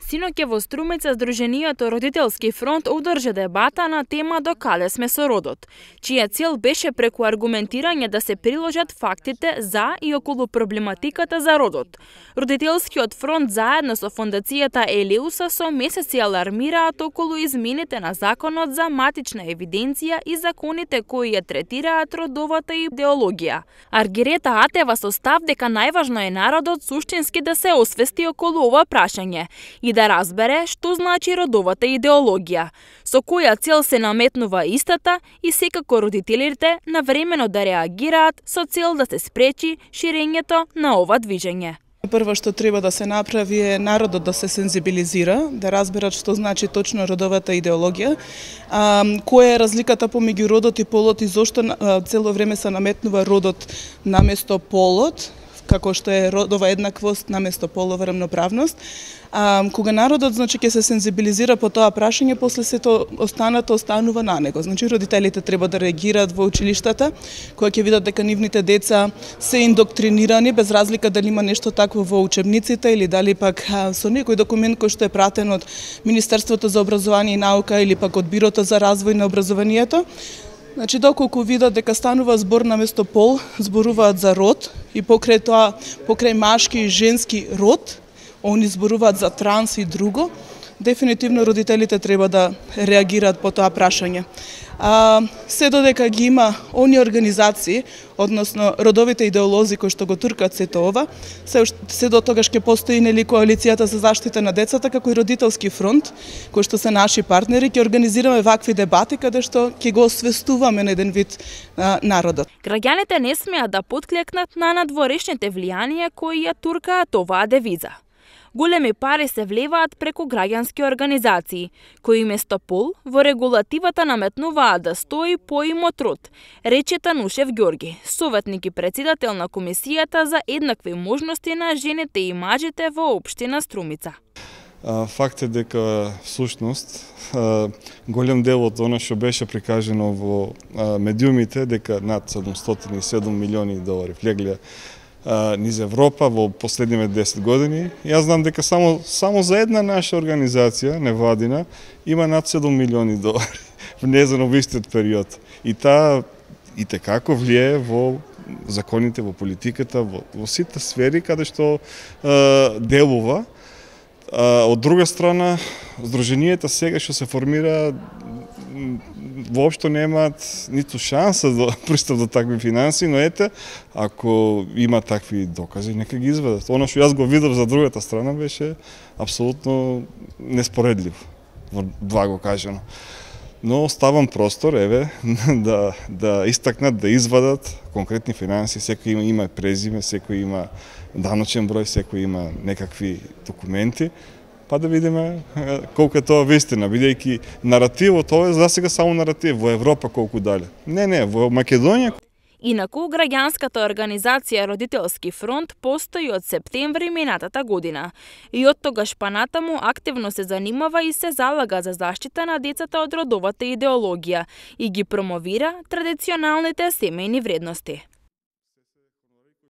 Синоќа во Струмица Сдруженијето Родителски фронт одржа дебата на тема до каде сме со родот, чија цел беше преку аргументирање да се приложат фактите за и околу проблематиката за родот. Родителскиот фронт заедно со фондацијата Елеуса со месеци алармираат околу измените на законот за матична евиденција и законите кои ја третираат родовата идеологија. Аргирета Атева со став дека најважно е народот суштински да се освести околу ова прашање и да разбере што значи родовата идеологија, со која цел се наметнува истата и секако родителите навремено да реагираат со цел да се спречи ширењето на ова движење. Прво што треба да се направи е народот да се сензибилизира, да разберат што значи точно родовата идеологија, која е разликата помеѓу родот и полот и зошто цело време се наметнува родот наместо полот, како што е родова еднаквост наместо полова рамноправност. Кога народот ќе се сензибилизира по тоа прашање, после сето останато останува на него. Родителите треба да реагираат во училиштата, кога ќе видат дека нивните деца се индоктринирани, без разлика дали има нешто такво во учебниците или дали пак со некој документ кој што е пратен од Министерството за образование и наука или пак од Бирото за развој на образованието. Доколку видат дека станува збор наместо пол, зборуваат за род и покрај тоа, покрај машки и женски род, они зборуваат за транс и друго, дефинитивно родителите треба да реагираат по тоа прашање. Се додека ги има они организации, односно родовите идеолози кои што го туркат сето ова, се до тогаш ќе постои нели коалицијата за заштита на децата како и Родителски фронт, кои што се наши партнери, ќе организираме вакви дебати каде што ќе го освестуваме на еден вид народот. Граѓаните не смеат да потклекнат на надворешните влијанија кои ја туркаат оваа девиза. Големи пари се влеваат преку граѓански организации, кои место пол во регулативата наметнуваат да стои поимот род, рече Танушев Ѓорги, советник и председател на Комисијата за еднакви можности на жените и мажите во општина Струмица. Факт е дека всушност голем дел од она што беше прикажено во медиумите, дека над 707 милиони долари влегле низ Европа во последниве 10 години. Јас знам дека само за една наша организација, невладина, има над 7 милиони долари внесено во истиот период. И таа и текако влие во законите, во политиката, во сите сфери каде што делува. Од друга страна, Сдруженијата сега што се формира воопшто немаат ниту шанса да пристап до такви финанси, но ете, ако има такви докази, нека ги изведат. Оно што јас го видов за другата страна беше апсолутно неспоредливо, благо кажано. Но оставам простор, да истакнат, да извадат конкретни финанси, секој има презиме, секој има даночен број, секој има некакви документи, па да видиме колку е тоа вистина, бидејќи наративот, тоа е за сега само наратив, во Европа колку дале. Не, во Македонија. Инаку, граѓанската организација Родителски фронт постои од септември минатата година и од тогаш па натаму активно се занимава и се залага за заштита на децата од родовата идеологија и ги промовира традиционалните семејни вредности.